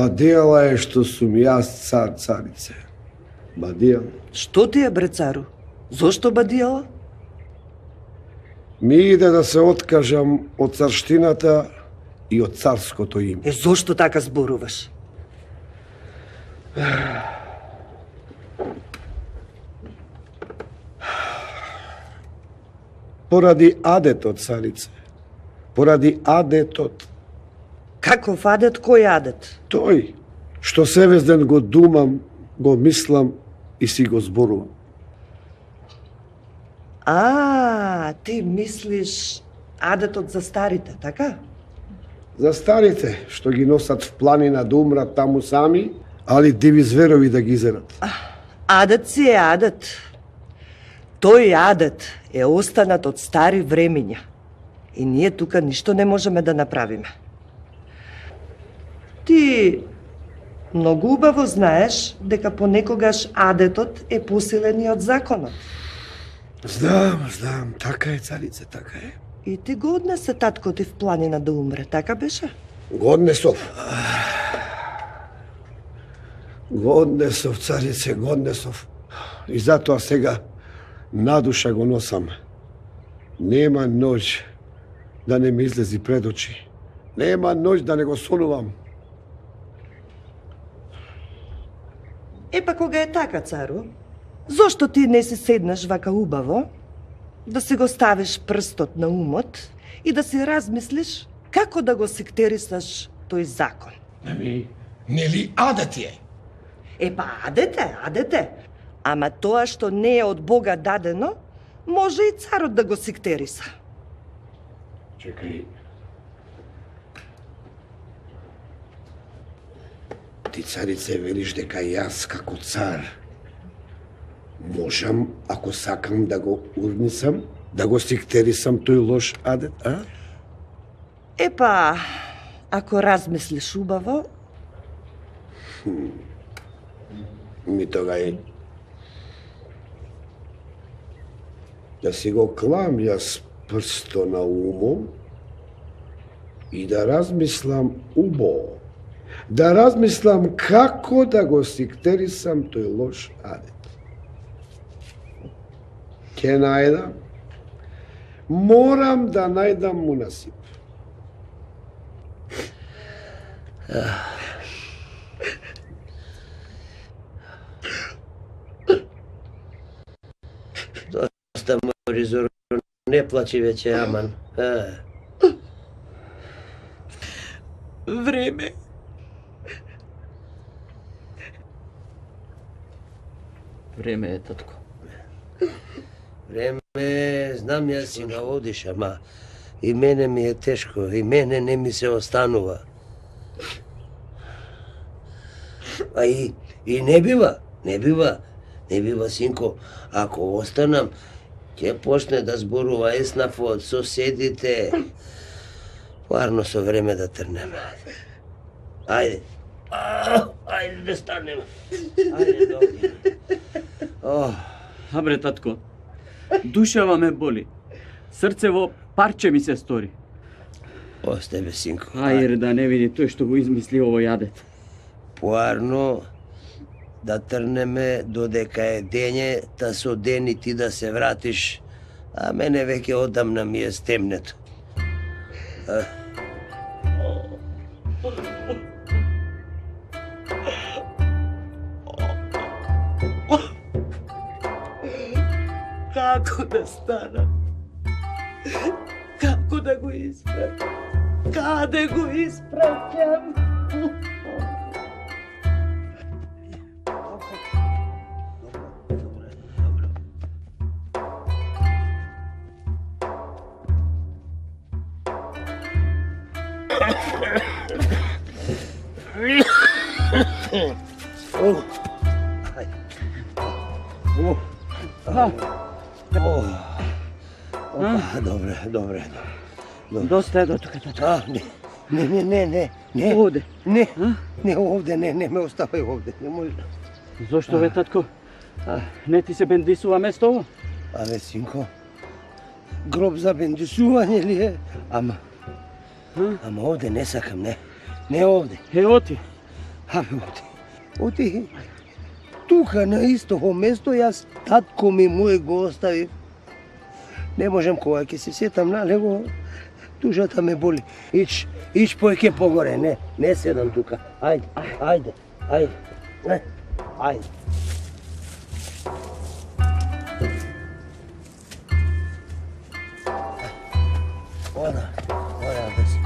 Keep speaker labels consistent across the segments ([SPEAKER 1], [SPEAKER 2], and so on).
[SPEAKER 1] Бадијала е што сум јас цар, царице. Бадијала.
[SPEAKER 2] Што ти е, бре цару? Зошто бадијала?
[SPEAKER 1] Ми иде да се откажам од царштината и од царското име.
[SPEAKER 2] Зошто така зборуваш?
[SPEAKER 1] Поради адетот, царице. Поради адетот.
[SPEAKER 2] Каков адет, кој адет?
[SPEAKER 1] Тој, што себе ден го думам, го мислам и си го зборувам.
[SPEAKER 2] Ти мислиш адетот за старите, така?
[SPEAKER 1] За старите, што ги носат в планина да умрат таму сами, али диви зверови да ги изерат.
[SPEAKER 2] Адет си е адет. Тој адет е останат од стари времиња. И ние тука ништо не можеме да направиме. Ти многу убаво знаеш дека понекогаш адетот е посилен и од законот.
[SPEAKER 1] Знам, така е, царице, така е.
[SPEAKER 2] И ти го однесе татко ти в планина да умре, така беше?
[SPEAKER 1] Го однесов. Го однесов, царице, го однесов. И затоа сега надуша го носам. Нема ноќ да не ми излези пред очи. Нема ноќ да не го сонувам.
[SPEAKER 2] Епа кога е така, цару, зошто ти не си седнеш вака убаво, да си го ставиш прстот на умот и да си размислиш како да го сектерисаш тој закон?
[SPEAKER 3] Нели адет е?
[SPEAKER 2] Епа адете. Ама тоа што не е од Бога дадено, може и царот да го сектериса.
[SPEAKER 1] Чекај. Ти, царице, велиш дека јас како цар можам, ако сакам да го урнисам, да го сектерисам тој лош адет, а?
[SPEAKER 2] Епа, ако размислиш убаво...
[SPEAKER 1] Ми тога е. Да си го клам јас прсто на умом и да размислам убаво. Да размислам како да го сектерисам тој лош адет. Ке најдам. Морам да најдам мунасип.
[SPEAKER 4] Доста мори, Зоро, не плачи веќе, аман.
[SPEAKER 5] Време. Време е, татко.
[SPEAKER 4] Време, знам јас си ga одиш, ама и мене ми е тешко, и мене не ми се останува. А и не бива, синко, ако останам, ќе почне да зборува еснафот, соседите. Варно со време да трнеме. Ајде. Ајде да станеме. Ајде да одиме.
[SPEAKER 5] Абре, татко, душава ме боли. Срцево парче ми се стори.
[SPEAKER 4] Осте бе, синко.
[SPEAKER 5] Ајде да не види тој што го измисли овој адет.
[SPEAKER 4] Поарно да трнеме додека е дење, та со ден и ти да се вратиш, а мене веќе одамна ми е стемнето.
[SPEAKER 2] Како да стана? Како да го испратам? Каде го испратам?
[SPEAKER 4] Добре.
[SPEAKER 5] Доста е до тука, татко.
[SPEAKER 4] Не.
[SPEAKER 5] Овде.
[SPEAKER 4] Не овде, не ме оставај овде.
[SPEAKER 5] Зошто бе, татко? Не ти се бендисува местово?
[SPEAKER 4] Абе, синко, гроб за бендисување ли е? Ама овде не сакам, не овде.
[SPEAKER 5] Ево ти.
[SPEAKER 4] Оти. Тука на истото место јас татко ми мој го остави. Не можем кога ќе се сетам на него. Душата ме боли. Ич поеќе погоре, не седам тука. Ајде. Ода, да си.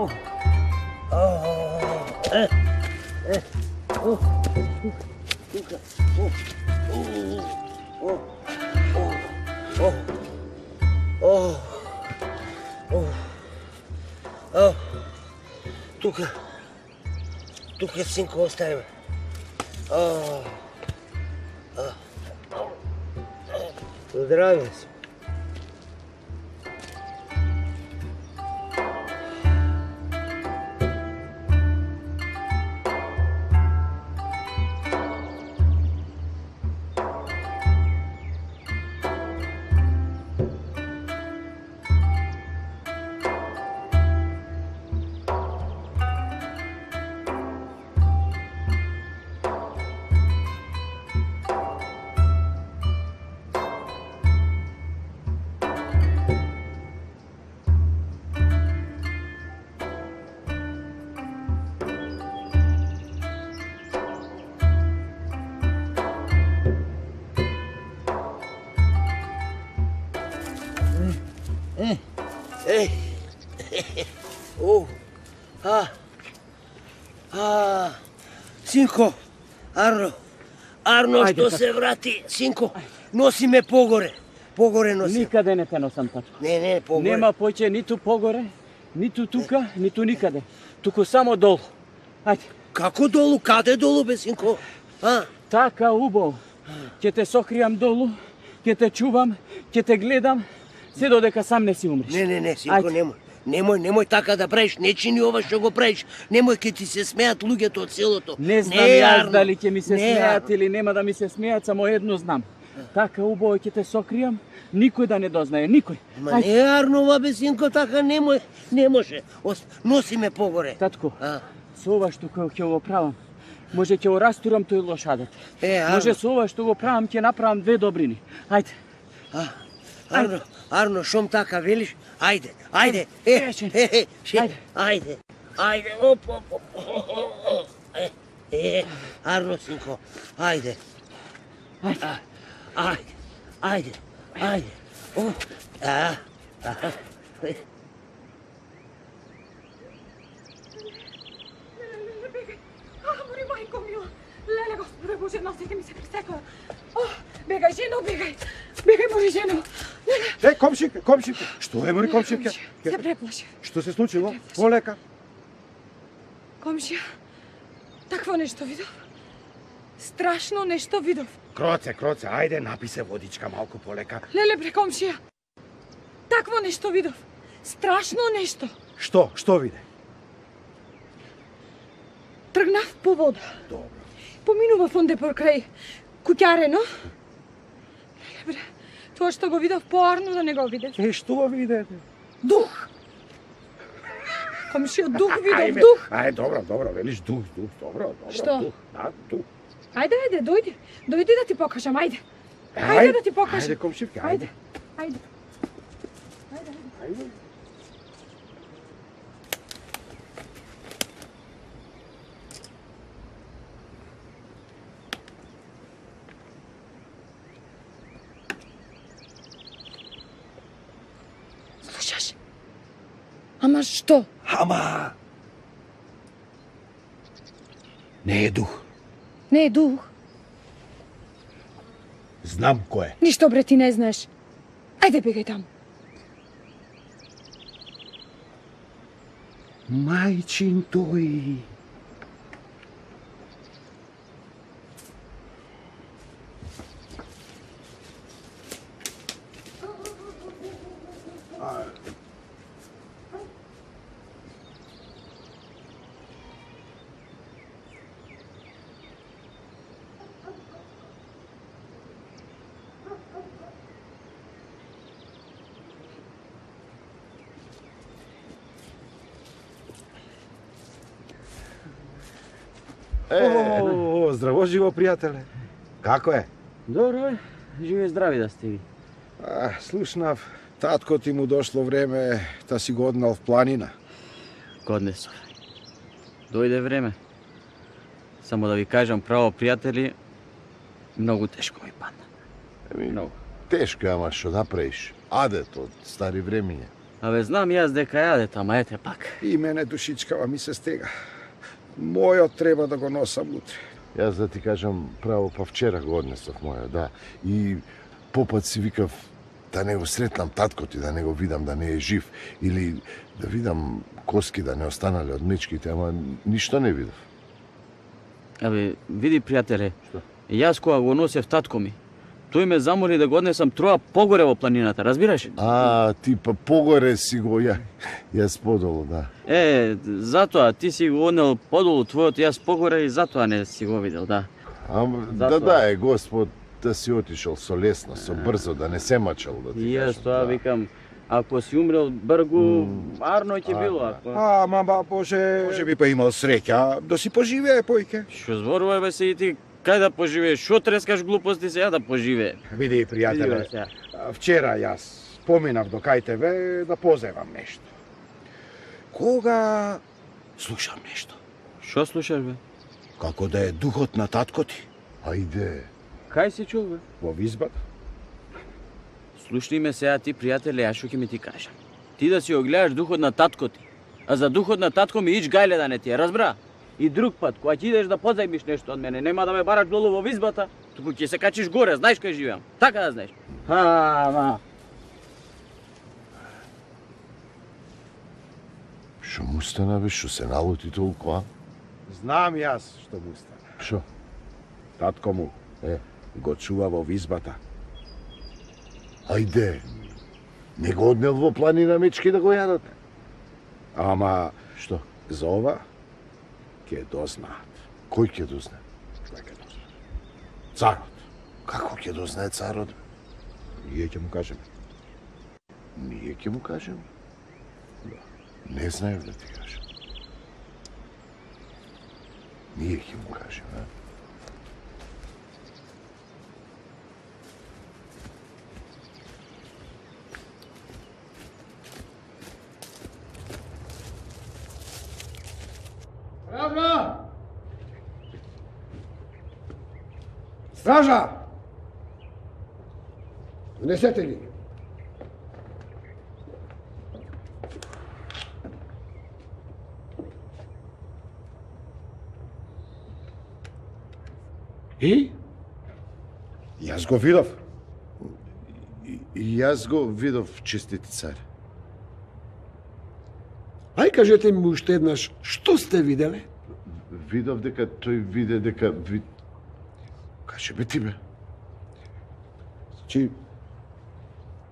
[SPEAKER 4] Ода. Тука синко оставим. Здраве си. Синко, Арно што се врати, синко, носи ме погоре. Погоре носи.
[SPEAKER 5] Никаде не те носам, татко.
[SPEAKER 4] Не, погоре.
[SPEAKER 5] Нема поќе ниту погоре, ниту тука, ниту никаде. Туку само долу. Ајде.
[SPEAKER 4] Како долу? Каде долу, бе, синко?
[SPEAKER 5] Така убаво. Ќе те сокријам долу, ќе те чувам, ќе те гледам, се додека сам не си умреш.
[SPEAKER 4] Не, синко, немој така да правиш, не чини ова што го правиш. Немој, ке ти се смеат луѓето од селото.
[SPEAKER 5] Не знам јас дали ќе ми се смеат или нема да ми се смеат, само едно знам. Така убаво ќе те сокријам, никој да не дознае, никој.
[SPEAKER 4] Ма не, Арнова, бе, синко, така не може. Носи ме погоре.
[SPEAKER 5] Татко, со ова што ќе го правам, може ќе го растурам тој лош адет. Може со ова што го правам, ќе направам две добрини. Ајде.
[SPEAKER 4] Арно, шом така велиш? Ајде. Ајде. Оп. Арно, синко, ајде. Ајде.
[SPEAKER 6] Мајко мила, леле, Господе Боже, носите ми се пресекла. Бегај, жено, бегај, моја жено.
[SPEAKER 7] Комшинка, што е, мој комшинка?
[SPEAKER 6] Се преплашив.
[SPEAKER 7] Што се случило? Полека.
[SPEAKER 6] Комшија, такво нешто видов. Страшно нешто видов.
[SPEAKER 7] Кроце, ајде, напи се водичка малку полека.
[SPEAKER 6] Леле, бре, комшија, такво нешто видов. Страшно нешто.
[SPEAKER 7] Што виде?
[SPEAKER 6] Тргнав по вода.
[SPEAKER 7] Добро.
[SPEAKER 6] Поминував онде покрај куќарено. Леле, бре, тоа што го видов поарно да не го видев.
[SPEAKER 7] Што видете?
[SPEAKER 6] Дух. Комшија, дух видов, дух.
[SPEAKER 7] Добро, велиш дух, добро.
[SPEAKER 6] Што?
[SPEAKER 7] Дух, дух.
[SPEAKER 6] Ајде, дојди да ти покажам, ајде. Ајде да ти покажам.
[SPEAKER 7] Ајде, комшивка,
[SPEAKER 6] ајде. Слушаш? Ама што?
[SPEAKER 7] Не е дух.
[SPEAKER 6] Не е дух.
[SPEAKER 7] Знам кој е.
[SPEAKER 6] Ништо, бре, ти не знаеш. Ајде, бегај таму.
[SPEAKER 7] Мајчин тој. Здраво живо, пријателе. Како е?
[SPEAKER 5] Добро е, живи здрави да сте ви.
[SPEAKER 7] Слушнав, татко ти му дошло време да си го однал в планина.
[SPEAKER 5] Годнесов. Дојде време. Само да ви кажам право, пријатели, многу тешко ми падна. Многу.
[SPEAKER 8] Тешко, ама што да правиш? Адет од стари времиња.
[SPEAKER 5] Абе, знам јас дека е адет, ама ете пак.
[SPEAKER 7] И мене душичкава ми се стега. Мојот треба да го носам утре.
[SPEAKER 8] Јас да ти кажам право, па вчера го однесов мојот, да. И попат си викав да не го сретнам татко ти, да не го видам да не е жив. Или да видам коски да не останале од мечките, ама ништо не видов.
[SPEAKER 5] Абе, види, пријателе,
[SPEAKER 8] Што?
[SPEAKER 5] јас кога го носев татко ми, тој ме замоли да го однесам троа погоре во планината, разбираш?
[SPEAKER 8] Ти па погоре си го јас подолу, да.
[SPEAKER 5] Затоа ти си го однел подолу твојот, јас погоре и затоа не си го видел, да.
[SPEAKER 8] Ама
[SPEAKER 5] Затоа.
[SPEAKER 8] да е Господ да си отишол со лесно, со брзо, да не се мачал, да ти
[SPEAKER 5] И јас
[SPEAKER 8] кажам,
[SPEAKER 5] тоа
[SPEAKER 8] да.
[SPEAKER 5] викам, ако си умрел бргу, арно ќе било. Ако...
[SPEAKER 7] Ама, може би па имал среќа да си поживее, појке.
[SPEAKER 5] Што зборува бе се и ти, кај да поживееш, што трескаш глупости сега да поживее?
[SPEAKER 7] Види,
[SPEAKER 5] Види,
[SPEAKER 7] пријателе,
[SPEAKER 5] бе, сега.
[SPEAKER 7] вчера јас поминав до кај тебе да позевам нешто. Кога слушам нешто,
[SPEAKER 5] Што слушаш бе?
[SPEAKER 7] како да е духот на татко ти
[SPEAKER 8] Ајде.
[SPEAKER 5] Кај си чув бе?
[SPEAKER 7] во визбата.
[SPEAKER 5] Слушни ме сега ти, пријателе, ја што ќе ми ти кажам. Ти да си го гледаш духот на татко ти, а за духот на татко ми ич гајле да не ти е, разбра? И друг пат, кога ќе идеш да позајмиш нешто од мене, нема да ме бараш долу во визбата, туку ќе се качиш горе, знаеш кај живеам. Така да знаеш. Ама.
[SPEAKER 8] Што му стана, бе, што се налути толку, а?
[SPEAKER 7] Знам јас што му стана.
[SPEAKER 8] Што?
[SPEAKER 7] Татко му го чува во визбата.
[SPEAKER 8] Ајде. Не го однел во планина мечки да го јадат?
[SPEAKER 7] Ама
[SPEAKER 8] Што?
[SPEAKER 7] за ова ќе дознаат.
[SPEAKER 8] Кој ќе дознае?
[SPEAKER 7] Кој ќе дознае? Царот.
[SPEAKER 8] Како ќе дознае царот?
[SPEAKER 7] Ние ќе му кажеме.
[SPEAKER 8] Ние ќе му кажеме? Не знаев да ти кажем. Ние ќе му кажеме, а?
[SPEAKER 7] Стража! Стража! Внесете ги. И? Јас го видов.
[SPEAKER 8] И јас го видов, честити цар.
[SPEAKER 1] Ај кажете ми уште еднаш, што сте виделе?
[SPEAKER 8] Видов дека тој виде дека...
[SPEAKER 7] Каже бе ти бе? Значи,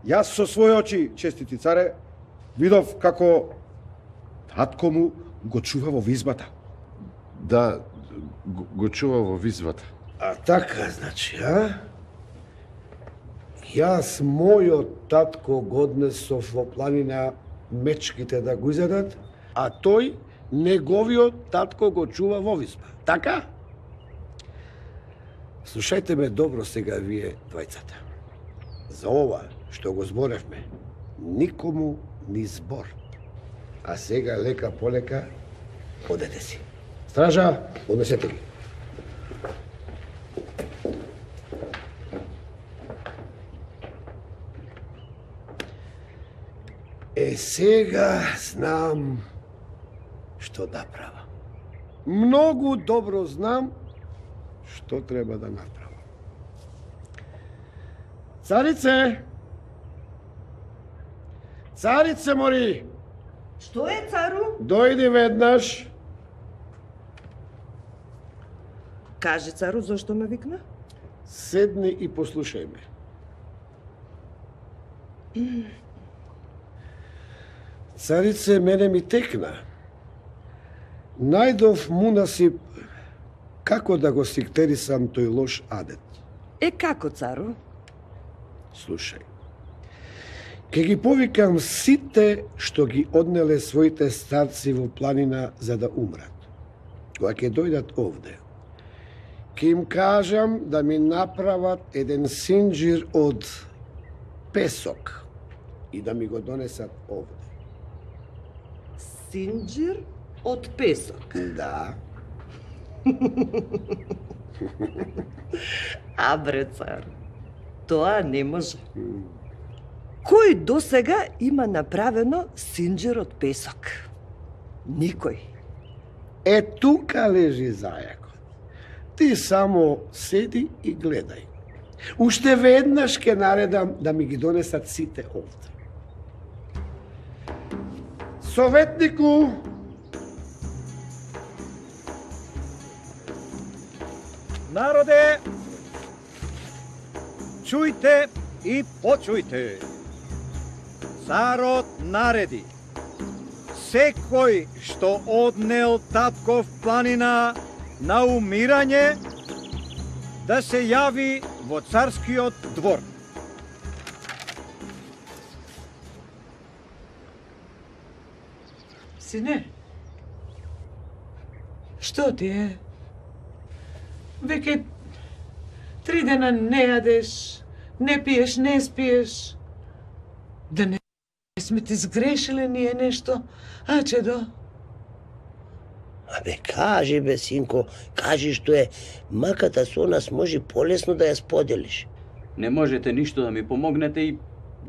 [SPEAKER 7] јас со своји очи, честити царе, видов како татко му го чува во визбата.
[SPEAKER 8] Да, го чува во визбата.
[SPEAKER 1] А така, значи, а? Јас мојот татко го однесов во планина мечките да го изедат, а тој неговиот татко го чува во визба. Така? Слушајте ме добро сега вие двајцата. За ова што го зборевме, никому ни збор. А сега лека полека одете си. Стража, однесете ги. Сега знам што да правам. Многу добро знам што треба да направам. Царице! Царице мори!
[SPEAKER 2] Што е, цару?
[SPEAKER 1] Дојди веднаш.
[SPEAKER 2] Кажи, цару, зошто ме викна?
[SPEAKER 1] Седни и послушај ме. Царице, мене ми текна. Најдов мунасип како да го сиктерисам тој лош адет.
[SPEAKER 2] Како, цару?
[SPEAKER 1] Слушај. Ке ги повикам сите што ги однеле своите старци во планина за да умрат. Кога ќе дојдат овде, Ке им кажам да ми направат еден синџир од песок и да ми го донесат овде.
[SPEAKER 2] Синџир од песок?
[SPEAKER 1] Да.
[SPEAKER 2] А бре, цар, тоа не може. Кој досега има направено синџир од песок? Никој.
[SPEAKER 1] Е, тука лежи зајакот. Ти само седи и гледај. Уште веднаш ке наредам да ми ги донесат сите овде. Советнику!
[SPEAKER 9] Народе, чујте и почујте. Царот нареди. Секој што однел татков планина на умирање, да се јави во царскиот двор.
[SPEAKER 10] Сине, што ти е? Веќе 3 дена не јадеш, не пиеш, не спиеш. Да не сме ти сгрешиле ние нешто, а чедо?
[SPEAKER 4] Абе, кажи бе, синко, кажи што е. Маката со нас може полесно да ја споделиш.
[SPEAKER 5] Не можете ништо да ми помогнете и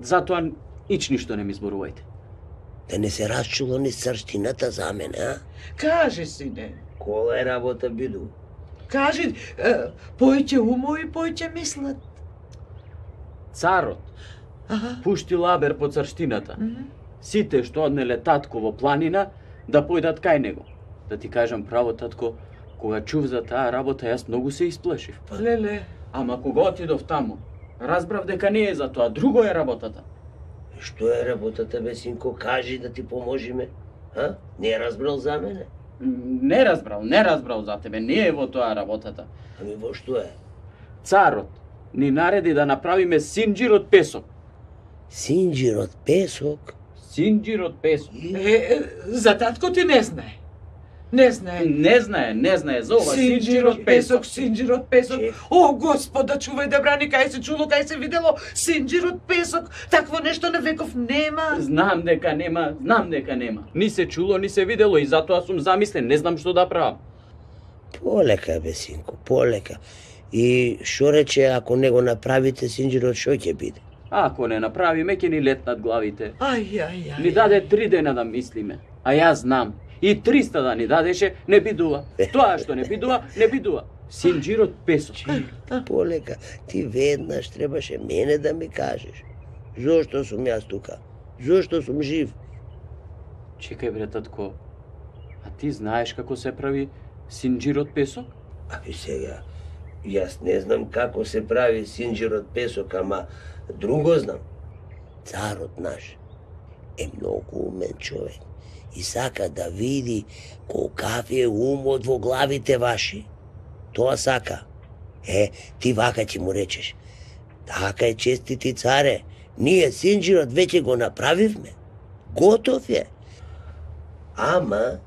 [SPEAKER 5] затоа ич ништо не ми зборувајте.
[SPEAKER 4] Да не се расчуло ни царштината за мене, а?
[SPEAKER 10] Кажи, сине.
[SPEAKER 4] Кола е работа, биду?
[SPEAKER 10] Кажи, појќе умови, појќе мислат.
[SPEAKER 5] Царот пушти лабер по царштината. Сите што однеле татко во планина да појдат кај него. Да ти кажам право, татко, кога чув за таа работа, јас многу се исплашив.
[SPEAKER 10] Леле.
[SPEAKER 5] Ама кога отидов таму, разбрав дека не е за тоа, друго е работата.
[SPEAKER 4] Што е работата, бе, синко? Кажи да ти поможиме. А? Не е разбрал за мене?
[SPEAKER 5] Не разбрал за тебе, не е во тоа работата.
[SPEAKER 4] Ами во што е?
[SPEAKER 5] Царот ни нареди да направиме синџир од песок.
[SPEAKER 4] Синџир од песок?
[SPEAKER 5] Синџир од песок.
[SPEAKER 10] За татко ти не знае. Не знае.
[SPEAKER 5] Не знае за ова
[SPEAKER 10] синџир од песок, синџир од песок. О, Господа, чувај да брани, кај се чуло, кај се видело, синџир од песок. Такво нешто на веков нема.
[SPEAKER 5] Знам дека нема. Ни се чуло, ни се видело и затоа сум замислен, не знам што да правам.
[SPEAKER 4] Полека, бе, синко, полека. И што рече, ако не го направите синџирот, што ќе биде?
[SPEAKER 5] Ако не направиме, ќе ни летнат главите.
[SPEAKER 10] Ај.
[SPEAKER 5] Ни даде 3 дена да мислиме, а јас знам. И 300 да ни дадеше, не бидува. Тоа што не бидува, не бидува. Синџир од песок.
[SPEAKER 4] Полека, ти веднаш требаше мене да ми кажеш. Зошто сум јас тука? Зошто сум жив?
[SPEAKER 5] Чекај бре, татко. А ти знаеш како се прави синџир од песок?
[SPEAKER 4] Аби сега, јас не знам како се прави синџир од песок, ама друго знам. Царот наш е многу умен човек и сака да види колкав е умот во главите ваши. Тоа сака. Ти вака ќе му речеш. Така е, честити царе, ние синџирот веќе го направивме. Готов е. Ама,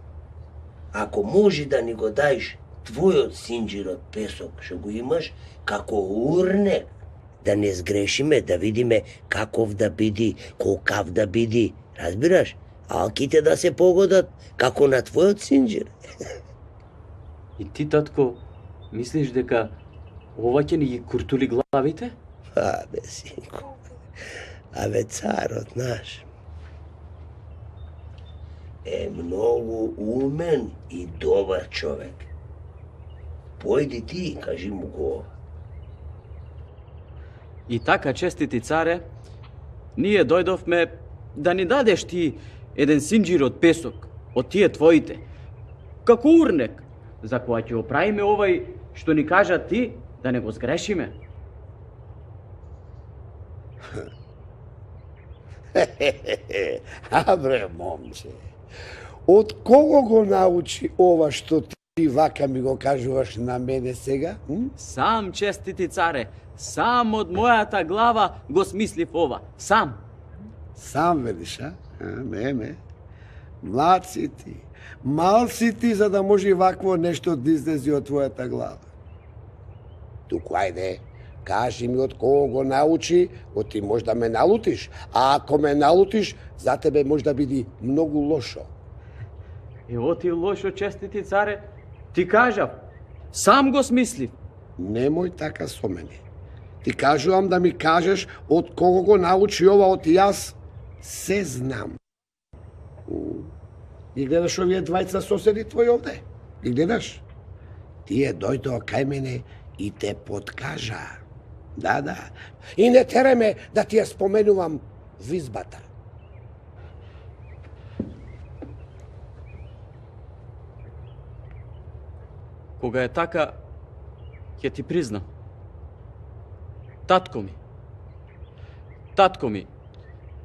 [SPEAKER 4] ако може да ни го даиш твојот синџир од песок, што го имаш, како урнек, да не сгрешиме, да видиме каков да биди, колкав да биди, разбираш? Алките да се погодат како на твојот синџир.
[SPEAKER 5] И ти, татко, мислиш дека ова ќе ни ги куртули главите?
[SPEAKER 4] Абе, синко, абе, царот наш е многу умен и добар човек. Појди ти, кажи му го.
[SPEAKER 5] И така, честити царе, ние дојдовме да ни дадеш ти еден синџир од песок, од тие твоите, како урнек, за која ќе оправиме овај што ни кажа ти, да не го сгрешиме.
[SPEAKER 1] А бре, момче, од кого го научи ова што ти вака ми го кажуваш на мене сега?
[SPEAKER 5] Сам, честити царе, сам од мојата глава го смислив ова, сам.
[SPEAKER 1] Сам велиш, а? Не. Млад си ти. Мал си ти за да може вакво нешто да излези од твојата глава. Туку ајде, кажи ми од кого го научи, од ти може да ме налутиш, а ако ме налутиш, за тебе може да биде многу лошо.
[SPEAKER 5] Ево ти лошо, честити царе, ти кажав, сам го смислив.
[SPEAKER 1] Немој така со мене. Ти кажувам да ми кажеш од кого го научи ова, од јас се знам. И гледаш овие двајца соседи твои овде? И гледаш? Тие дојдоа кај мене и те подкажа. Да. И не тереме да ти ја споменувам визбата.
[SPEAKER 5] Кога е така, ќе ти признам. Татко ми,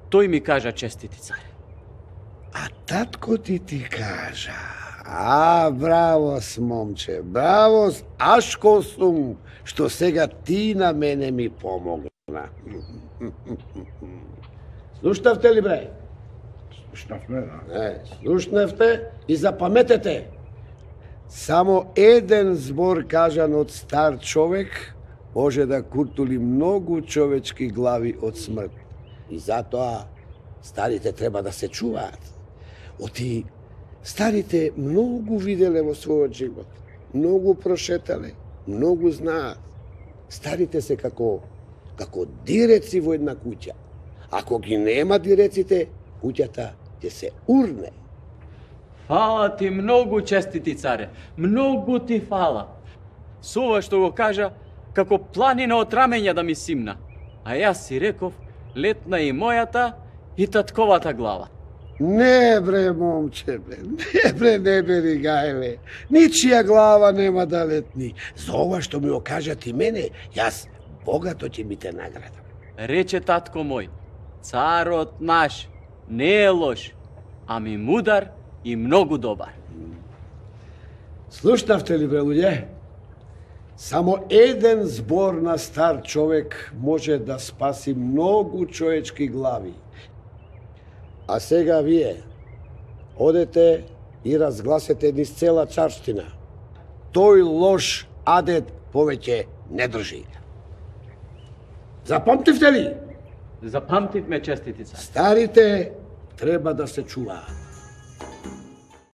[SPEAKER 5] тој ми кажа честити царе.
[SPEAKER 1] А татко ти кажа. Браво, момче, браво, ашко сум, што сега ти на мене ми помогна. Слушнавте ли, бре?
[SPEAKER 7] Слушнавме, да.
[SPEAKER 1] Слушнавте и запаметете. Само еден збор кажан од стар човек може да куртули многу човечки глави од смрт. И затоа старите треба да се чуваат. Оти старите многу виделе во својот живот, многу прошетале, многу знаат. Старите се како диреци во една куќа. Ако ги нема диреците, куќата ќе се урне.
[SPEAKER 5] Фала ти многу, честити царе, многу ти фала. Со ова што го кажа, како планина од раменја да ми симна. А јас си реков, летна и мојата и татковата глава.
[SPEAKER 1] Не бре, момче, не бери гајле. Ничија глава нема да летни. За ова што ми го кажа ти мене, јас богато ќе ми те наградам.
[SPEAKER 5] Рече татко мој, царот наш не е лош, ами мудар и многу добар.
[SPEAKER 1] Слушнавте ли, бре, луѓе? Само еден збор на стар човек може да спаси многу човечки глави. А сега вие одете и разгласете низ цела царштина. Тој лош адет повеќе не држи. Запамтивте ли?
[SPEAKER 5] Запамтивме, честити царе.
[SPEAKER 1] Старите треба да се чуваат.